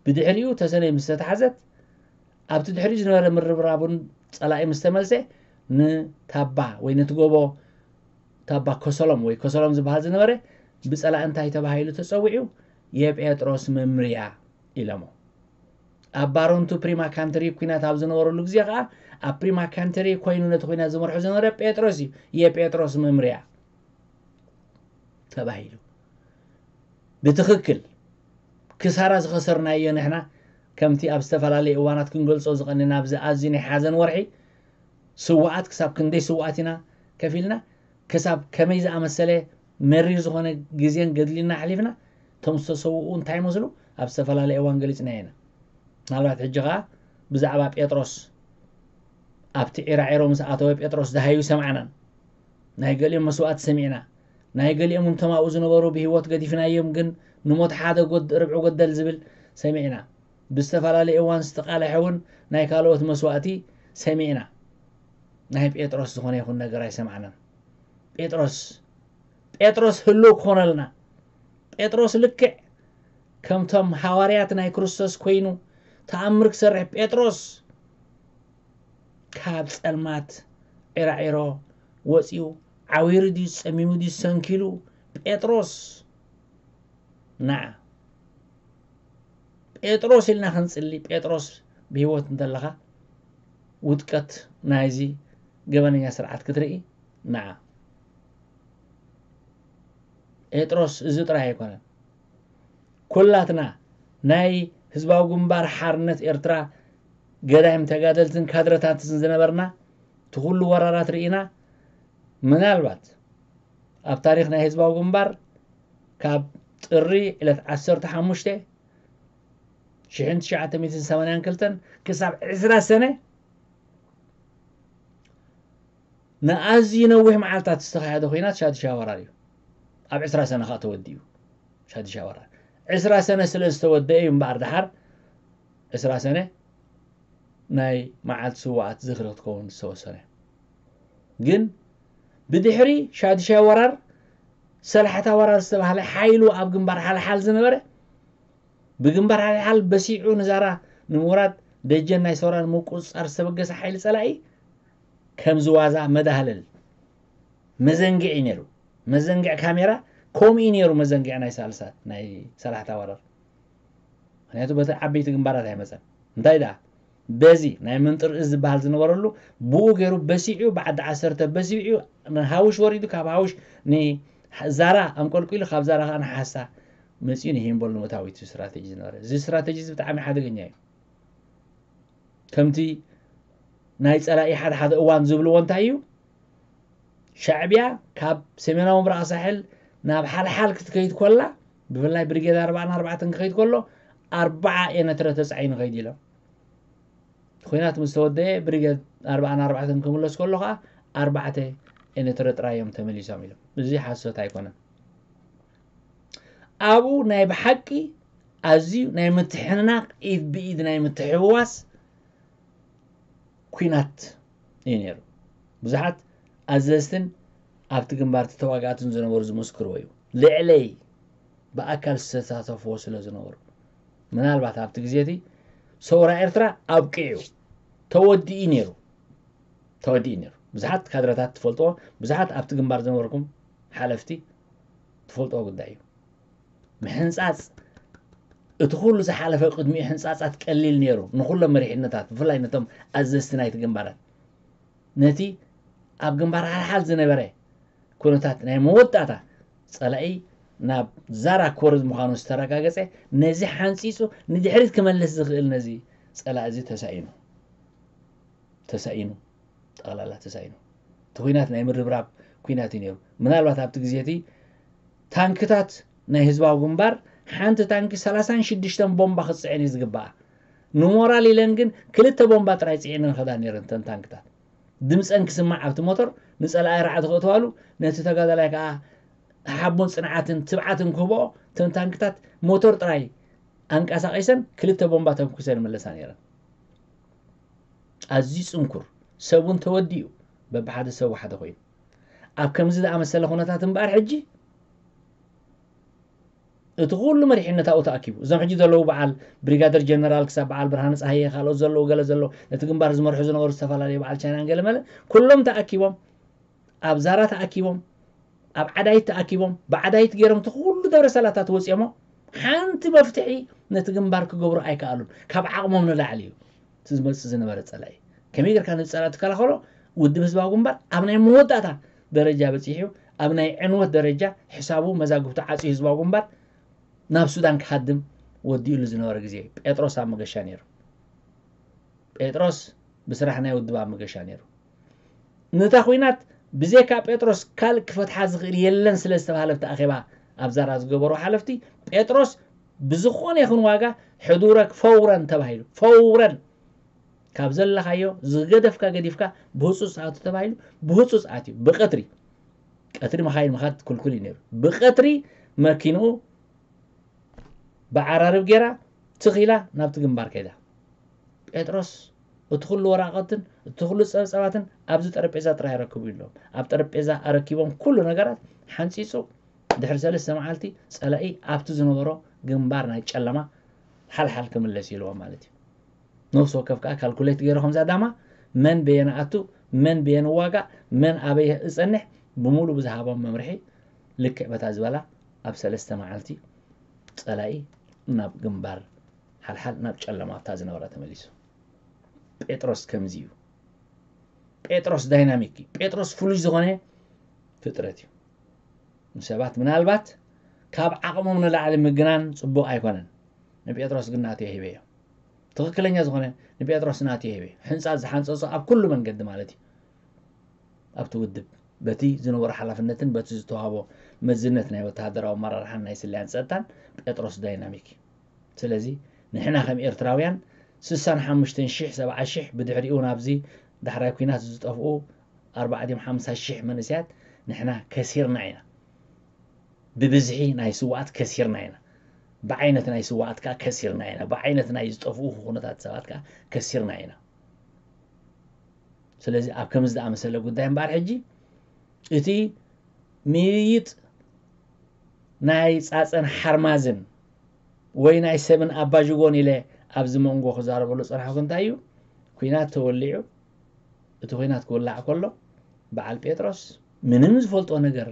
ብድሕሪኡ ተሰነይ ምስ ተታሕዘት፣ ኣብቲ ድሕሪኡ ዝነበረ ምርብራቡን ጸላኢ ምስ ተመልሰ፣ ንታባ ወይ ነቲ ጎቦ ታባ ከሰሎም ወይ ከሰሎም ዝበሃል ዝነበረ ብጸላኢ እንታይ ተባሂሉ ተጸዊዑ? የጴጥሮስ መምርያ ኢሎሞ። ኣብ ባሮንቱ ፕሪማ ካንተሪ ኩናት ኣብ ዝነበረሉ ግዜ ከኣ ኣብ ፕሪማ ካንተሪ ኮይኑ ነቲ ኩናት ዝመርሖ ዝነበረ ጴጥሮስ እዩ። የጴጥሮስ መምርያ ተባሂሉ። ብትኽክል ክሳራ ዝኸሰርናዮ ንሕና ከምቲ ኣብ ዝተፈላለየ እዋናት ክንገልጾ ዝቐንና ኣብዚ ኣዝዩ ናይ ሓዘን ወርሒ ስውኣት ክሳብ ክንደይ ስውኣት ኢና ከፊልና፣ ክሳብ ከመይ ዝኣመሰለ መሪር ዝኾነ ግዜን ገድሊና ኣሕሊፍና፣ እቶም ዝተሰውኡ እንታይ ይመስሉ ኣብ ዝተፈላለየ እዋን ገሊጽና ኢና። ምናልባት ሕጂ ኸኣ ብዛዕባ ጴጥሮስ ኣብቲ ዒራዒሮ ምስ ኣተወ ጴጥሮስ ደሃዩ ሰማዕናን። ናይ ገሊኦም መስዋእቲ ሰሚዕና። ናይ ገሊኦም እንቶም ኣብኡ ዝነበሩ ብህይወት ገዲፍናዮም ግን ንሞት ሓደ ጎድ- ርብዒ ጎደል ዝብል ሰሚዕና። ብዝተፈላለየ እዋን ዝተቓለሐ እውን ናይ ካልኦት መስዋእቲ ሰሚዕና። ናይ ጴጥሮስ ዝኾነ ይኹን ነገር ኣይሰማዕናን። ጴጥሮስ ጴጥሮስ ህልው ክኾነልና። ጴጥሮስ ልክዕ ከምቶም ሃዋርያት ናይ ክርስቶስ ኮይኑ ተኣምር ክሰርሕ ጴጥሮስ ካብ ጸልማት ዒራዒሮ ወጺኡ ዓዊሩ ድዩ ጸሚሙ ድዩ ሰንኪሉ ጴጥሮስ ንዓ ጴጥሮስ ኢልና ክንጽሊ ጴጥሮስ ብህይወት እንተለኻ ውድቀት ናይዚ ገበነኛ ስርዓት ክትርኢ ንዓ ጴጥሮስ እዚ ጥራይ ኣይኮነን። ኩላትና ናይ ህዝባዊ ግንባር ሓርነት ኤርትራ ገዳይም ተጋደልትን ካድረታትን ዝነበርና እቲ ኩሉ ወራራት ርኢና ምናልባት ኣብ ታሪኽ ናይ ህዝባዊ ግንባር ካብ ጥሪ ዕለት ዓሰርተ ሓሙሽተ ሽሕን ትሽዓተ ሚእትን ሰማንያን ክልተን ክሳብ ዕስራ ሰነ ንኣዝዩ ነዊሕ መዓልታት ዝተኻየደ ኹናት ሻድሻ ወራር እዩ። ኣብ ዕስራ ሰነ ከዓ ተወዲኡ ሻድሻ ወራር። ዕስራ ሰነ ስለ ዝተወደአ እዩ እምበኣር ደሓር ዕስራ ሰነ ናይ መዓልቲ ስውኣት ዝኽሪ ክትከውን ዝተወሰነ። ግን ብድሕሪ ሻድሻ ወራር ሰላሕታ ወራር ዝተባህለ ሓይሉ ኣብ ግንባር ሓልሓል ዝነበረ ብግንባር ሓልሓል በሲዑ ንዛራ ንምውራድ ደጀን ናይ ሰውራ ንምቁፅፃር ዝተበገሰ ሓይሊ ፀላኢ ከምዚ ዋዛ መዳህለል መዘንግዒ ነይሩ። መዘንግዒ ካሜራ ከምኡ እዩ ነይሩ። መዘንግዒ ናይ ሳልሳት ናይ ሰላሕታ ወራር ምክንያቱ በቲ ዓበይቲ ግንባራት ኣይመፀን። እንታይ ደኣ በዚ ናይ ምንጥር እዝ ዝበሃል ዝነበረሉ ብኡ ገይሩ በሲዑ ብዓዲ ዓሰርተ በሲዑ ንሃውሽ ወሪዱ ካብ ሃውሽ ንዛራ ኣንቆልቂሉ ካብ ዛራ ከዓ ንሓሳ መፂኡ ንሂምቦል ንምእታው እቲ ስትራቴጂ ዝነበረ እዚ ስትራቴጂ እዚ ብጣዕሚ ሓደገኛ እዩ። ከምቲ ናይ ፀላኢ ሓደ ሓደ እዋን ዝብልዎ እንታይ እዩ ሻዕብያ ካብ ሰሜናዊ ምብራቕ ሳሕል ናብ ሓልሓል ክትከይድ ኮላ ብፍላይ ብሪጌድ ኣርባዓን ኣርባዕተን ክኸይድ ከሎ ኣርባዓ ኤነትረ ተፃዒኑ ከይድ ኢሎም ኩናት ምስ ተወደአ ብሪጌድ ኣርባዓን ኣርባዕተን ክምለስ ከሎ ከዓ ኣርባዕተ ኤነትረ ጥራይ እዮም ተመሊሶም ኢሎም። እዚ ሓሶት ኣይኮነን። ኣብኡ ናይ ብሓቂ ኣዝዩ ናይ ምትሕንናቕ ኢድ ብኢድ ናይ ምትሕውዋስ ኲናት እዩ ነይሩ። ብዙሓት ኣዘዝትን ኣብቲ ግንባር ተዋጋእትን ዝነበሩ ዝምስክርዎ እዩ። ልዕለይ ብኣካል ዝተሳተፍዎ ስለ ዝነበሩ ምናልባት ኣብቲ ግዜ እቲ ሰውራ ኤርትራ ኣብቂዑ ተወዲኡ ነይሩ ተወዲኡ ነይሩ። ብዙሓት ካድረታት ትፈልጥዎ ብዙሓት ኣብቲ ግንባር ዝነበርኩም ሓለፍቲ ትፈልጥዎ ጉዳይ እዩ። ምሕንጻጽ እቲ ኩሉ ዝሓለፈ ቅድሚኡ ሕንጻጻት ቀሊል ነይሩ ንኩሎም መሪሕነታት ብፍላይ ነቶም ኣዘዝቲ ናይቲ ግንባራት ነቲ ኣብ ግንባር ሓልሓል ዝነበረ ኩነታት ናይ መወዳእታ ጸላኢ ናብ ዛራ ክወርድ ምዃኑ ዝተረጋገጸ ነዚ ሓንጺጹ ንድሕሪት ክመልስ ዝኽእል ነዚ ጸላኢ እዚ ተሳኢኑ ተሳኢኑ ጠቕላላ ተሳኢኑ እቲ ኩናት ናይ ምርብራብ ኩናት እዩ ነይሩ። ምናልባት ኣብቲ ግዜ እቲ ታንክታት ናይ ህዝባዊ ግንባር ሓንቲ ታንኪ ሰላሳን ሽዱሽተን ቦምባ ክትፅዕን እዩ ዝግባኣ። ንሞራል ኢለን ግን ክልተ ቦምባ ጥራይ ፅዒነን ከዳ ነይረን እተን ታንክታት። ድምፀን ክስማዕ ኣብቲ ሞተር ንፀላኢ ራዕዲ ክእትዋሉ ነቲ ተጋዳላይ ከዓ ሓቦን ፅንዓትን ትብዓትን ክህብኦ እተን ታንክታት ሞተር ጥራይ ኣንቀሳቒሰን ክልተ ቦምባ ተንኩሰን ይመለሳ ነይረን። ኣዝዩ ጽንኩር፣ ሰብ እውን ተወዲኡ፣ በብሓደ ሰብ ሓደ ኮይኑ ኣብ ከምዚ ዝኣመሰለ ኩነታት እምበኣር ሕጂ እቲ ኩሉ መሪሕነት ኣብኡ ተኣኪቡ እዞም ሕጂ ዘለዉ በዓል ብሪጋደር ጀነራል ክሳብ በዓል ብርሃነ ፀሃየ ካልኦት ዘለዉ ገለ ዘለዉ ነቲ ግንባር ዝመርሑ ዝነበሩ ዝተፈላለዩ በዓል ቻይናን ገለ መለ ኩሎም ተኣኪቦም ኣብ ዛራ ተኣኪቦም ኣብ ዓዳይት ተኣኪቦም ብዓዳይት ገይሮም እቲ ኩሉ ደብረ ሰላታት ወፂኦሞ ሓንቲ መፍትሒ ነቲ ግንባር ክገብሩ ኣይከኣሉን። ካብ ዓቕሞም ንላዕሊ እዩ እቲ ዝመፅእ ዝነበረ ፀላኢ። ከመይ ጌርካ ነዚ ፀላኢ ትከላኸሎ? ውድብ ህዝባዊ ግንባር ኣብ ናይ መወዳእታ ደረጃ በፂሑ ኣብ ናይ ዕንወት ደረጃ ሕሳቡ መዛግብቱ ዓፅዩ ህዝባዊ ግንባር ናብ ሱዳን ክሃድም ወዲኡሉ ዝነበረ ግዜ ጴጥሮስ ኣብ መገሻ ነይሩ። ጴጥሮስ ብስራሕ ናይ ውድብ ኣብ መገሻ ነይሩ። ነታ ኹናት ብዘይካ ጴጥሮስ ካልእ ክፈትሓ ዝኽእል የለን ስለ ዝተባህለ ኣብቲ ኣኼባ ኣብ ዛራ ዝገበሩ ሓለፍቲ ጴጥሮስ ብዝኾነ ይኹን ዋጋ ሕዱረክ ፈውረን ተባሂሉ ፈውረን ካብ ዘለኻዮ ዝገደፍካ ገዲፍካ ብህፁፅ ኣቱ ተባሂሉ ብህፁፅ ኣትዩ ብቀትሪ ቀትሪ መኻይን ምኻድ ክልኩል እዩ ነይሩ ብቀትሪ መኪንኡ ብዓራርብ ጌራ ትኺላ ናብቲ ግንባር ከይዳ ጴጥሮስ እቲ ኩሉ ወራቐትን እቲ ኩሉ ፀብፀባትን ኣብዚ ጠረጴዛ ጥራይ ኣረክቡ ኢሎም ኣብ ጠረጴዛ ኣረኪቦም ኩሉ ነገራት ሓንፂፁ ድሕሪ ሰለስተ መዓልቲ ፀላኢ ኣብቲ ዝነበሮ ግንባር ናይ ጨለማ ሓልሓል ክምለስ ኢልዎም ማለት እዩ ነፍሲ ወከፍ ከዓ ካልኩሌት ገይሩ ከምዛ ዳማ መን በየን ኣቱ መን በየን ዋጋ መን ኣበይ እፀንሕ ብሙሉ ብዝሃቦም መምርሒ ልክዕ በታ ዝበላ ኣብ ሰለስተ መዓልቲ ፀላኢ ናብ ግንባር ሓልሓል ናብ ጨለማ ኣብታ ዝነበራ ተመሊሱ ጴጥሮስ ከምዚ እዩ ጴጥሮስ ዳይናሚክ እዩ ጴጥሮስ ፍሉይ ዝኾነ ፍጥረት እዩ ንሰባት ምናልባት ካብ ዓቕሞም ንላዕሊ ምግናን ፅቡቕ ኣይኮነን ንጴጥሮስ ግን ናተይ ሂበዮ ትኽክለኛ ዝኾነ ንጴጥሮስ ናተይ ሂበዮ ሕንፃ ዝሓንፀፁ ኣብ ኩሉ መንገዲ ማለት እዩ ኣብቲ ውድብ በቲ ዝነበሮ ሓላፍነትን በቲ ዝተዋህቦ መዝነት ናይ ወተሃደራዊ ኣመራርሓን ናይ ስለያን ፀጥታን ጴጥሮስ ዳይናሚክ እዩ ስለዚ ንሕና ከም ኤርትራውያን ስሳን ሓሙሽተን ሺሕ ሰብዓ ሺሕ ብድሕሪኡ ናብዚ ዳሕራይ ኲናት ዝጠፍኡ ኣርባዕቲኦም ሓምሳ ሺሕ መንእሰያት ንሕና ከሲርና ኢና ብብዝሒ ናይ ስዋኣት ከሲርና ኢና ብዓይነት ናይ ስዋኣት ከዓ ከሲርና ኢና ብዓይነት ናይ ዝጠፍኡ ኩነታት ሰባት ከዓ ከሲርና ኢና ስለዚ ኣብ ከምዚ ዝኣመሰለ ጉዳይ እምበኣር ሕጂ እቲ ምይይጥ ናይ ፃፀን ሓርማዝን ወይ ናይ ሰብን ኣባዥጎን ኢለ ኣብዚ መንጎ ክዛረበሉ ፀናሕኩ እንታይ እዩ ኩናት ተወሊዑ እቲ ኩናት ክውላዕ ከሎ በዓል ጴጥሮስ ምንም ዝፈልጦ ነገር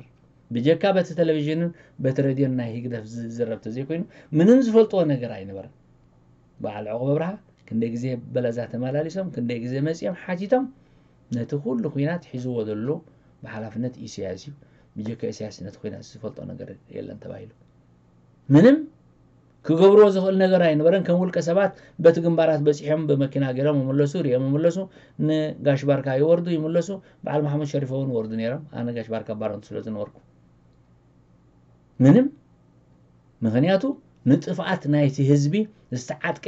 ብጀካ በቲ ቴሌቪዥንን በቲ ሬድዮን ናይ ህግደፍ ዝዝረብ ተዘይኮይኑ ምንም ዝፈልጥዎ ነገር ኣይነበረን በዓል ዕቑብ ኣብርሃ ክንደይ ግዜ በለዛ ተመላሊሶም ክንደይ ግዜ መፂኦም ሓቲቶም ነቲ ኩሉ ኩናት ሒዝዎ ዘሎ ብሓላፍነት ኢሳያስ እዩ ብጀካ ኢሳያስ ነቲ ኩናት ዝፈልጦ ነገር የለን ተባሂሉ ምንም ክገብርዎ ዝኽእል ነገር ኣይነበረን ከም ውልቀ ሰባት በቲ ግንባራት በፂሖም ብመኪና ገይሮም ይምለሱ ሪኦም ይምለሱ ንጋሽ ባርካ ይወርዱ ይምለሱ በዓል መሓመድ ሸሪፎ እውን ወርዱ ነይሮም ኣነ ጋሽ ባርካ ባረንቱ ስለ ዝነበርኩ ምንም ምኽንያቱ ንጥፍኣት ናይቲ ህዝቢ ዝተዓጥቀ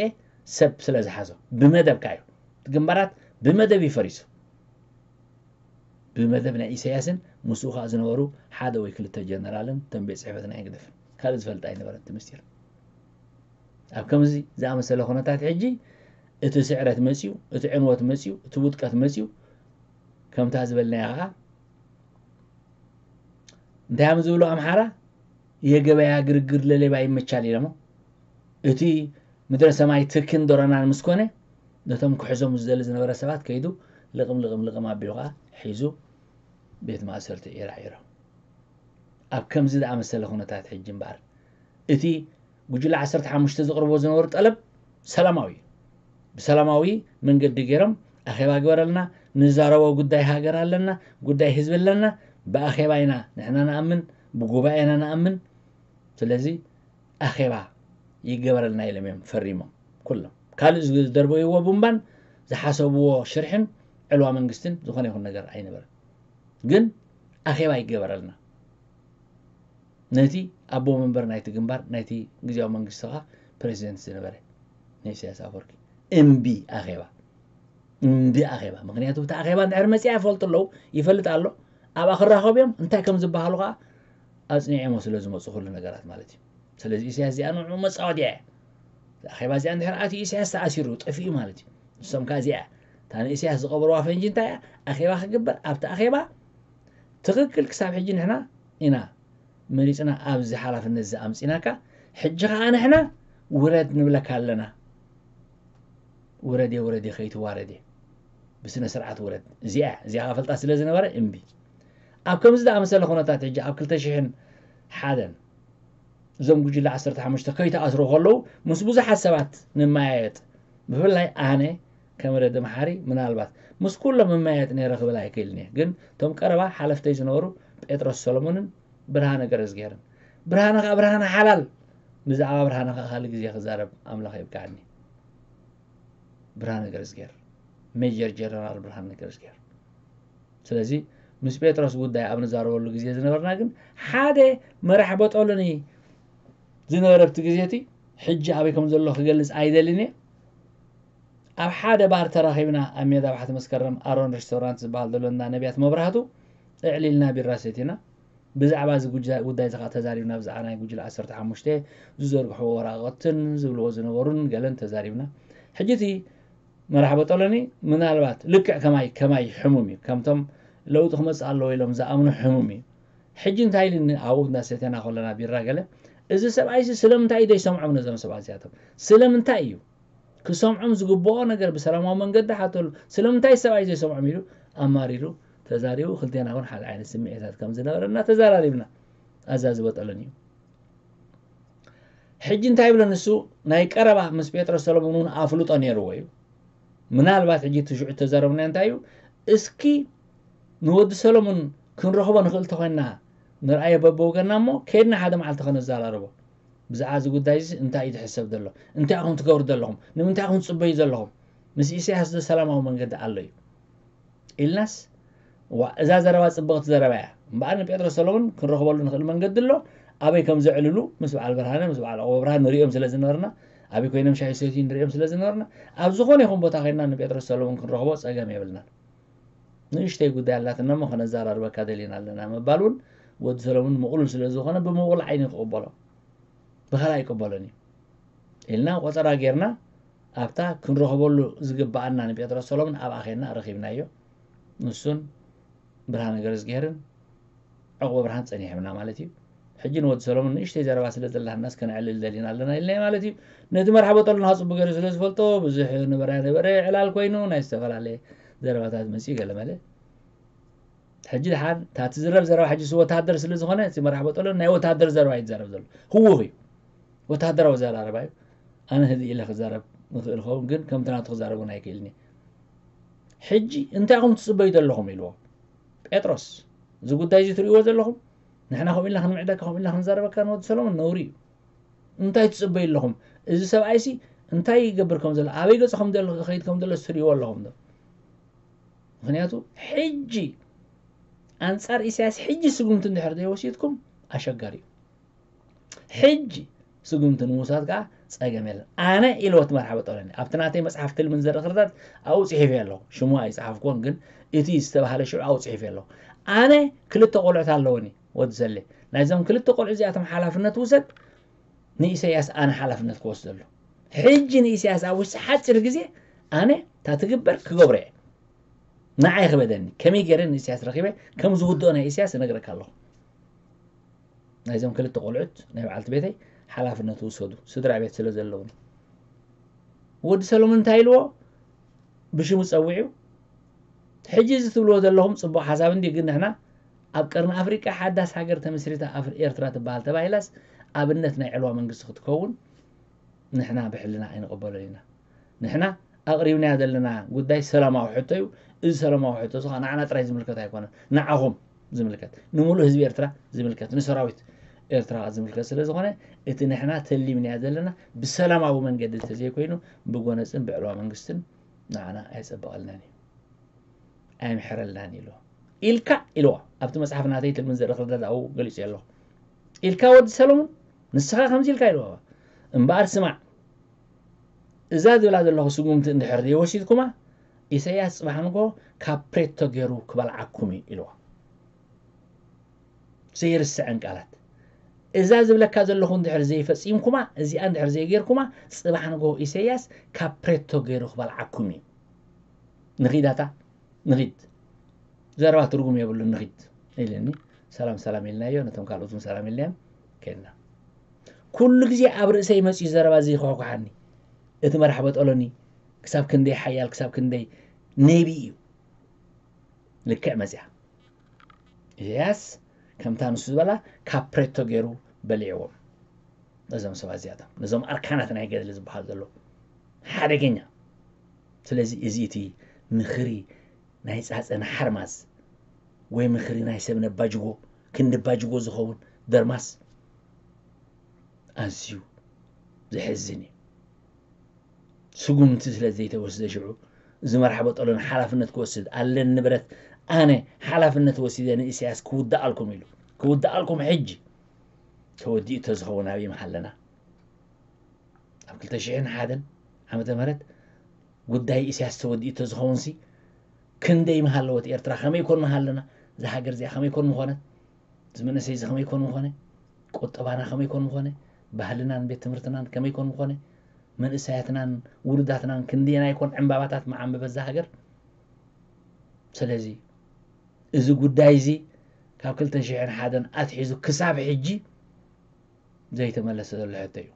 ሰብ ስለ ዝሓዞ ብመደብካ እዩ እቲ ግንባራት ብመደብ እዩ ፈሪሱ ብመደብ ናይ ኢሳያስን ምስኡ ከዓ ዝነበሩ ሓደ ወይ ክልተ ጀነራልን ተንቤት ፅሕፈት ናይ ህግደፍን ካልእ ዝፈልጥ ኣይነበረን እቲ ምስጢር ኣብ ከምዚ ዝኣመሰለ ኩነታት ሕጂ እቲ ስዕረት መፅዩ እቲ ዕንወት መፅዩ እቲ ውጥቀት መፅዩ ከምታ ዝበልናያ ከዓ እንታይ እዮም ዝብሉ ኣምሓራ የገበያ ግርግር ለሌባ ይመቻል ኢሎሞ እቲ ምድረ ሰማይ ትክን ዶረናን ምስ ኮነ ነቶም ክሕዞም ዝደሊ ዝነበረ ሰባት ከይዱ ልቕም ልቕም ልቕም ኣቢሉ ከዓ ሒዙ ቤት ማእሰርቲ ዒራዒሮ ኣብ ከምዚ ዝኣመሰለ ኩነታት ሕጂ እምበኣር እቲ ጉጅለ ዓሰርተ ሓሙሽተ ዘቕርቦ ዝነበሩ ጠለብ ሰላማዊ እዩ ብሰላማዊ መንገዲ ገይሮም ኣኼባ ግበረልና ንዛረቦ ጉዳይ ሃገር ኣለና ጉዳይ ህዝቢ ኣለና ብኣኼባ ኢና ንሕና ንኣምን ብጉባኤ ኢና ንኣምን ስለዚ ኣኼባ ይገበረልና ኢሎም እዮም ፈሪሞም ኩሎም ካልእ ዝደርበይዎ ቡምባን ዝሓሰብዎ ሽርሕን ዕልዋ መንግስትን ዝኾነ ይኹን ነገር ኣይነበረን ግን ኣኼባ ይገበረልና ነቲ ኣቦ መንበር ናይቲ ግንባር ናይቲ ግዜያዊ መንግስቲ ከዓ ፕሬዚደንት ዝነበረ ንኢሳያስ ኣፈወርቂ እምቢ ኣኼባ እምቢ ኣኼባ ምክንያቱ እቲ ኣኼባ እንድሕር መፅኣ ይፈልጡ ኣለዉ ይፈልጥ ኣሎ ኣብኣ ክራኸቡ እዮም እንታይ ከም ዝበሃሉ ከዓ ኣፅኒዐሞ ስለ ዝመፁ ኩሉ ነገራት ማለት እዩ ስለዚ ኢሳያስ እዚኣ ንዕኡ መፃወድያ እያ ኣኼባ እዚኣ እንድሕር ኣትዩ ኢሳያስ ተኣሲሩ ጠፊኡ ማለት እዩ ንሶም ከዓ እዚኣ እታ ንእስያስ ዝቐበርዋ ፈንጂ እንታይ እያ? ኣኼባ ክግበር፣ ኣብቲ ኣኼባ ትኽክል ክሳብ ሕጂ ንሕና ኢና መሪፅና ኣብዚ ሓላፍነት እዚ ኣምፂናካ፣ ሕጂ ከዓ ንሕና ውረድ ንብለካ ኣለና። ውረድ እየ ውረድ እየ ከይትዋረድ እየ ብስነ ስርዓት ውረድ። እዚኣ እያ እዚኣ ፈልጣ ስለ ዝነበረ እምቢ። ኣብ ከምዚ ዝኣመሰለ ኩነታት ሕጂ ኣብ ክልተ ሽሕን ሓደን እዞም ጉጅለ ዓሰርተ ሓሙሽተ ከይተኣስሩ ከለዉ ምስ ብዙሓት ሰባት ንመያየጥ፣ ብፍላይ ኣነ ከም ረዲ መሓሪ ምናልባት ምስ ኩሎም እመያየጥ ነይረ ክብል ኣይክእልን እየ። ግን እቶም ቀረባ ሓለፍተይ ዝነበሩ ጴጥሮስ ሰሎሞንን ብርሃነ ገረዝጌርን፣ ብርሃነ ከዓ ብርሃነ ሓላል፣ ብዛዕባ ብርሃነ ከዓ ካልእ ግዜ ክዛረብ ኣምላኽ የብቅዓኒ። ብርሃነ ገረዝጌር፣ ሜጀር ጀነራል ብርሃነ ገረዝጌር። ስለዚ ምስ ጴጥሮስ ጉዳይ ኣብ ንዛረበሉ ግዜ ዝነበርና ግን ሓደ መራሕ በጦሎኒ ዝነበረ ኣብቲ ግዜ እቲ ሕጂ ኣበይ ከም ዘሎ ክገልጽ ኣይደልን እየ። ኣብ ሓደ ባር ተራኺብና ኣብ ሜዳ ባሕቲ መስከረም ኣሮን ሬስቶራንት ዝበሃል ዘሎ እንዳ ነቢያት መብራህቱ እዕሊልና ቢራ ሰቲና ብዛዕባ እዚ ጉጃ- ጉዳይ እዚ ከዓ ተዛሪብና ብዛዕባ ናይ ጉጅለ ዓሰርተ ሓሙሽተ ዝዘርግሕዎ ወረቐትን ዝብልዎ ዝነበሩን ገለን ተዛሪብና። ሕጂ እቲ መራሕ በጦሎኒ ምናልባት ልክዕ ከማይ ከማይ ሕሙም እዩ። ከምቶም ለውጢ ክመፅእ ኣለዎ ኢሎም ዝኣምኑ ሕሙም እዩ። ሕጂ እንታይ ኢልኒ ኣብኡ እንዳሰተና ከለና ቢራ ገለ፣ እዚ ሰብኣይሲ ስለምንታይ እዩ ዘይሰምዖም ነዞም ሰባት እዚኣቶም? ስለምንታይ እዩ ክሰምዖም ዝግብኦ ነገር ብሰላማዊ መንገዲ ሓተሉ። ስለምንታይ ሰብኣይ ዘይሰምዖም ኢሉ ኣማሪሩ ተዛሪቡ። ክልቴና እውን ሓደ ዓይነት ስምዒታት ከም ዝነበረና ተዘራሪብና። ኣዛ ዝበጠለን እዩ። ሕጂ እንታይ ይብሎ ንሱ? ናይ ቀረባ ምስ ጴጥሮስ ሰሎሞን እውን ኣፍልጦ ነይርዎ እዩ። ምናልባት ሕጂ እቲ ሽዑ ተዛረብና እንታይ እዩ? እስኪ ንወዲ ሰሎሞን ክንረኽቦ ንኽእል ተኾይንና ንርኣዮ በበወገንና እሞ ከድና ሓደ መዓልቲ ከነዘራርቦ። ብዛዕባ እዚ ጉዳይ እዚ እንታይ እዩ ዝሕሰብ ዘሎ? እንታይ ኢኹም ትገብሩ ዘለኹም? ንምንታይ ኢኹም ትጽበዩ ዘለኹም? ምስ ኢሳያስ ዶ ሰላማዊ መንገዲ ኣሎ እዩ? ኢልናስ ዋ እዛ ዘረባ ጽብቕቲ ዘረባ እያ። እምበኣር ንጴጥሮስ ሰሎሞን ክንረኽበሉ ንኽእል መንገዲ ኣሎ። ኣበይ ከም ዘዕልሉ ምስ በዓል ብርሃነ ምስ በዓል ዕቑበ ብርሃን ንሪኦም ስለ ዝነበርና፣ ኣበይ ኮይኖም ሻሂ ሰትዩ ንሪኦም ስለ ዝነበርና፣ ኣብ ዝኾነ ይኹን ቦታ ኮይንና ንጴጥሮስ ሰሎሞን ክንረኽቦ ጸገም የብልናን። ንእሽተይ ጉዳይ ኣላትና እሞ ከነዘራርበካ ደሊና ኣለና ምባል እውን ወዲ ሰሎሞን ምቕሉል ስለ ዝኾነ ብምቕሉል ዓይኒ ክቕበሎ ብኻልእ ኣይቅበሎን እዩ ኢልና ቆጸራ ጌርና ኣብታ ክንረኽበሉ ዝግብኣና ንጴጥሮስ ሰሎሞን ኣብኣ ኬድና ረኺብናዮ። ንሱን ብርሃነ ገረዝግሄርን ዕቑበ ብርሃን ጸኒሖምና ማለት እዩ። ሕጂ ንወዲ ሰሎሞን ንእሽተይ ዘረባ ስለ ዘላትና እስከ ነዕልል ደሊና ኣለና ኢልና ማለት እዩ። ነቲ መርሓ በጠሉና ጽቡቅ ገይሩ ስለ ዝፈልጦ ብዙሕ ነበረ ነበረ ዕላል ኮይኑ ናይ ዝተፈላለየ ዘረባታት መጺኡ ገለ መለ። ሕጂ ድሓን እታ ትዝረብ ዘረባ ሕጂ እሱ ወታሃደር ስለ ዝኾነ እቲ መራሕ በጠሎ ናይ ወታሃደር ዘረባ እዩ ዝዛረብ ዘሎ። ህውኽ እዩ። ወታሃደራዊ ዘራረባ እዩ። ኣነ ህድእ ኢለ ክዛረብ ንኽእል ኸውን ግን ከምቲ ናቱ ክዛረብ እውን ኣይክእልን እየ። ሕጂ እንታይ ኢኹም ትጽበዩ ዘለኹም ኢልዎ ጴጥሮስ። እዚ ጉዳይ እዚ ትርእይዎ ዘለኹም ንሕና ከምኡ ኢልና ክንምዕደካ ከምኡ ኢልና ክንዛረበካ ንወዲ ሰሎሞን ነውሪ እዩ። እንታይ ትጽበዩ ኣለኹም? እዚ ሰብኣይሲ እንታይ ይገብር ከም ዘሎ ኣበይ ገጹ ከም ዘሎ ክኸይድ ከም ዘሎ ትርእይዎ ኣለኹም ዶ? ምክንያቱ ሕጂ ኣንጻር ኢሳያስ ሕጂ ስጉምቲ እንድሕር ዘይወሲድኩም ኣሸጋሪ እዩ። ሕጂ ስጉምቲ ንምውሳድ ከዓ ጸገም የለን። ኣነ ኢልዎ እቲ መርሓ በጠለኒ ኣብቲ ናተይ መጽሓፍ ትልምን ዘርኢ ክርታት ኣብኡ ጽሒፈ ኣለኹ። ሽሙ ኣይጸሓፍኩዎን ግን እቲ ዝተባህለ ሽዑ ኣብኡ ጽሒፈ ኣለኹ። ኣነ ክልተ ቆልዑት ኣለወኒ ወዲ ዘለ ናይዞም ክልተ ቆልዑ እዚኣቶም ሓላፍነት ውሰድ ንኢሳያስ ኣነ ሓላፍነት ክወስደሉ። ሕጂ ንኢሳያስ ኣብ ውሽጢ ሓፂር ግዜ ኣነ እታ ትግበር ክገብሮ እየ። ንዓይ ክበደኒ ከመይ ገይረ ንኢሳያስ ረኺበ ከም ዝውድኦ ናይ ኢሳያስ እነግረካ ኣለኹ። ናይዞም ክልተ ቆልዑት ናይ በዓልቲ ቤተይ ሓላፍነት ውሰዱ ስድራ ቤት ስለ ዘለውኒ። ወዲ ሰሎሞን እንታይ ኢልዎ? ብሽሙ ጸዊዑ ሕጂ እዚ ትብልዎ ዘለኹም ጽቡቕ ሓሳብ እንዲ ግን ንሕና ኣብ ቀርኒ ኣፍሪቃ ሓዳስ ሃገር ተመስሪታ ኣፍሪ ኤርትራ ትበሃል ተባሂላስ ኣብነት ናይ ዕልዋ መንግስቲ ክትከውን ንሕና ብሕልና ኣይንቕበሎን ኢና። ንሕና ኣቕሪብናዮ ዘለና ጉዳይ ሰላማዊ ሕቶ እዩ። እዚ ሰላማዊ ሕቶ እዚ ከዓ ንዓና ጥራይ ዝምልከት ኣይኮነን። ንዓኹም ዝምልከት ንምሉእ ህዝቢ ኤርትራ ዝምልከት ንሰራዊት ኤርትራ ዝምልከት ስለ ዝኾነ እቲ ንሕና ተሊምናዮ ዘለና ብሰላማዊ መንገዲ እንተዘይኮይኑ ብጎነፅን ብዕልዋ መንግስትን ንዓና ኣይፀበቐልናን እዩ ኣይምሕረልናን ኢሉ ኢልካ ኢልዋ ኣብቲ መፅሓፍ ናተይ ትልምን ዘርኢ ክርዳድ ኣብኡ ገሊፁ ኣለኹ ኢልካ ወዲ ሰለሙን ንስኻ ከምዚ ኢልካ ኢልዋ እምበኣር ስማዕ እዛ ዝብላ ዘለኹ ስጉምቲ እንድሕር ዘይወሲድኩማ ኢሳያስ ፅባሕ ንጎ ካብ ፕሬቶ ገይሩ ክበልዓኩም እዩ ኢልዋ ዘይርስዐን ቃላት እዛ ዝብለካ ዘለኹ እንድሕር ዘይፈፂምኩማ እዚኣ እንድሕር ዘይገይርኩማ ፅባሕ ንጎ ኢሳያስ ካብ ፕሬቶ ገይሩ ክበልዓኩም እዩ ንኺዳታ ንኺድ፣ ዘረባ ትርጉም የብሉን፣ ንኺድ ኢልኒ። ሰላም ሰላም ኢልናዮ፣ ነቶም ካልኦት እውን ሰላም ኢልናዮም ከድና። ኩሉ ግዜ ኣብ ርእሰይ መፅዩ ዘረባ እዚ ይኳኳሓኒ። እቲ መራሕ በጠሎኒ ክሳብ ክንደይ ሓያል፣ ክሳብ ክንደይ ነቢ እዩ። ልክዕ መፅያ። ኢሳያስ ከምታ ንሱ ዝበላ ካፕሬቶ ገይሩ በሊዕዎም። ነዞም ሰባት እዚኣቶም፣ ነዞም ኣርካናት ናይ ገድሊ ዝበሃል ዘሎ ሓደገኛ። ስለዚ እዚ እቲ ምኽሪ ናይ ጻጸ ንሓርማዝ ወይ ምኽሪ ናይ ሰብ ነባጅጎ ክንዲ ባጅጎ ዝኸውን ደርማስ ኣዝዩ ዘሕዝን እዩ። ስጉምቲ ስለ ዘይተወስደ ሽዑ እዚ መራሕ በጠሎ ንሓላፍነት ክወስድ ኣለን ንብረት ኣነ ሓላፍነት ወሲደ ንኢሳያስ ክውድኣልኩም ኢሉ ክውድኣልኩም ሕጂ ተወዲኡ ተዝኸውን ኣበይ ምሃለና? ኣብ ክልተ ሽሕን ሓደን ዓመተ ምህረት ጉዳይ ኢሳያስ ተወዲኡ ተዝኸውንሲ ክንደይ ምሃለወት ኤርትራ? ከመይ ኮን ምሃለና? እዛ ሃገር እዚኣ ከመይ ኮን ምኾነት? እዚ መንእሰይ እዚ ከመይ ኮን ምኾነ? ቁጠባና ከመይ ኮን ምኾነ? ባህልናን ቤት ትምህርትናን ከመይ ኮን ምኾነ? መንእሰያትናን ውሉዳትናን ክንደየናይ ኮን ዕምባባታት መዓምበበ እዛ ሃገር? ስለዚ እዚ ጉዳይ እዚ ካብ ክልተ ሽሕን ሓደን ኣትሒዙ ክሳብ ሕጂ ዘይተመለሰ ዘሎ ሕቶ እዩ።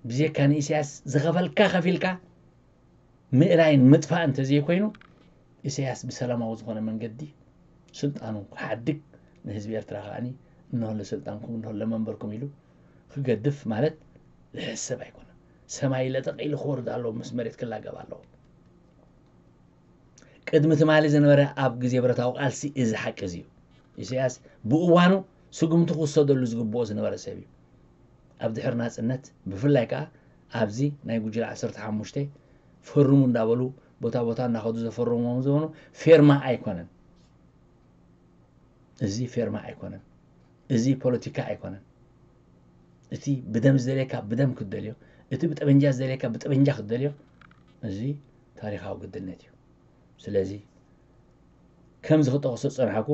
ብዜካ ንኢሳያስ ዝኸፈልካ ከፊልካ ምእላይን ምጥፋእ እንተዘይኮይኑ፣ ኢሳያስ ብሰላማዊ ዝኾነ መንገዲ ስልጣኑ ክሓድግ፣ ንህዝቢ ኤርትራ ከዓኒ እንሆ ለስልጣንኩም እንሆ ለመንበርኩም ኢሉ ክገድፍ ማለት ዝሕሰብ ኣይኮነን። ሰማይ ለጠቕ ኢሉ ክወርድ ኣለዎ፣ ምስ መሬት ክላገብ ኣለዎ። ቅድሚ ትማሊ ዝነበረ ኣብ ግዜ ብረታዊ ቃልሲ እዚ ሓቂ እዚ እዩ። ኢሳያስ ብእዋኑ ስጉምቲ ክውሰደሉ ዝግብኦ ዝነበረ ሰብ እዩ። ኣብ ድሕሪ ናጽነት ብፍላይ ከኣ ኣብዚ ናይ ጉጅለ ዓሰርተ ሓሙሽተ ፈርሙ እንዳበሉ ቦታ ቦታ እናኸዱ ዘፈርሞም ዝኾኑ ፌርማ ኣይኮነን። እዚ ፌርማ ኣይኮነን። እዚ ፖለቲካ ኣይኮነን። እቲ ብደም ዝደልየካ ብደም ክትደልዮ፣ እቲ ብጠበንጃ ዝደልየካ ብጠበንጃ ክትደልዮ፣ እዚ ታሪኻዊ ግድነት እዩ። ስለዚ ከምዚ ክጠቕሶ ዝጸናሕኩ፣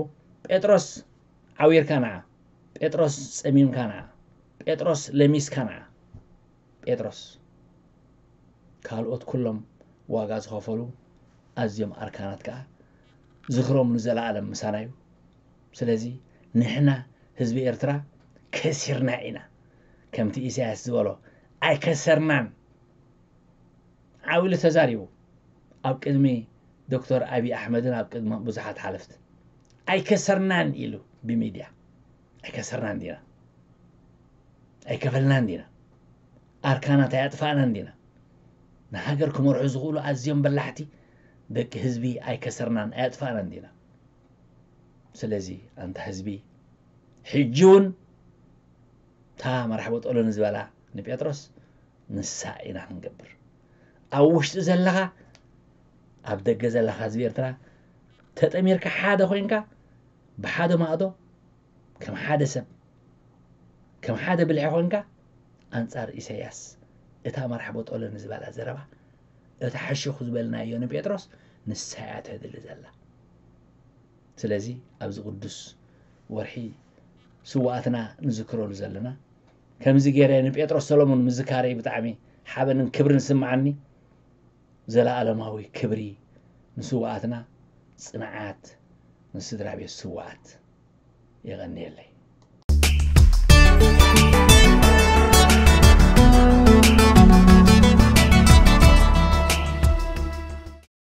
ጴጥሮስ ዓዊርካ ንዓ፣ ጴጥሮስ ጸሚምካ ንዓ፣ ጴጥሮስ ለሚስካ ንዓ፣ ጴጥሮስ። ካልኦት ኩሎም ዋጋ ዝኸፈሉ ኣዝዮም ኣርካናት ከኣ ዝኽሮም ንዘለኣለም ምሳና እዩ። ስለዚ ንሕና ህዝቢ ኤርትራ ከሲርና ኢና። ከምቲ ኢሳያስ ዝበሎ ኣይከሰርናን። ዓው ኢሉ ተዛሪቡ። ኣብ ቅድሚ ዶክተር ኣብይ ኣሕመድን ኣብ ቅድሚ ብዙሓት ሓለፍቲ ኣይከሰርናን ኢሉ ብሚድያ። ኣይከሰርናን ዲና? ኣይከፈልናን ዲና? ኣርካናት ኣያጥፋእናን ዲና? ንሃገር ክመርሑ ዝኽእሉ ኣዝዮም በላሕቲ ደቂ ህዝቢ ኣይከሰርናን ኣያጥፋእናን ዲና? ስለዚ ኣንታ ህዝቢ ሕጂ እውን እታ መራሕ በጠሎ ንዝበላ ንጴጥሮስ ንሳ ኢና ክንገብር። ኣብ ውሽጢ ዘለኻ ኣብ ደገ ዘለኻ ህዝቢ ኤርትራ ተጠሚርካ ሓደ ኮይንካ ብሓደ ማእዶ ከም ሓደ ሰብ ከም ሓደ ብልሒ ኮይንካ ኣንጻር ኢሳያስ እታ መራሕ በጠሎ ንዝበላ ዘረባ እታ ሕሹኽ ዝበልናዮ ንጴጥሮስ ንሳ እያ ተድሊ ዘላ። ስለዚ ኣብዚ ቅዱስ ወርሒ ስውኣትና ንዝክረሉ ዘለና ከምዚ ገይረ ንጴጥሮስ ሰሎሞን ምዝካረይ ብጣዕሚ ሓበንን ክብርን ስምዓኒ። ዘለኣለማዊ ክብሪ ንስውኣትና፣ ጽንዓት ንስድራ ቤት ስውኣት። የቐንየለይ።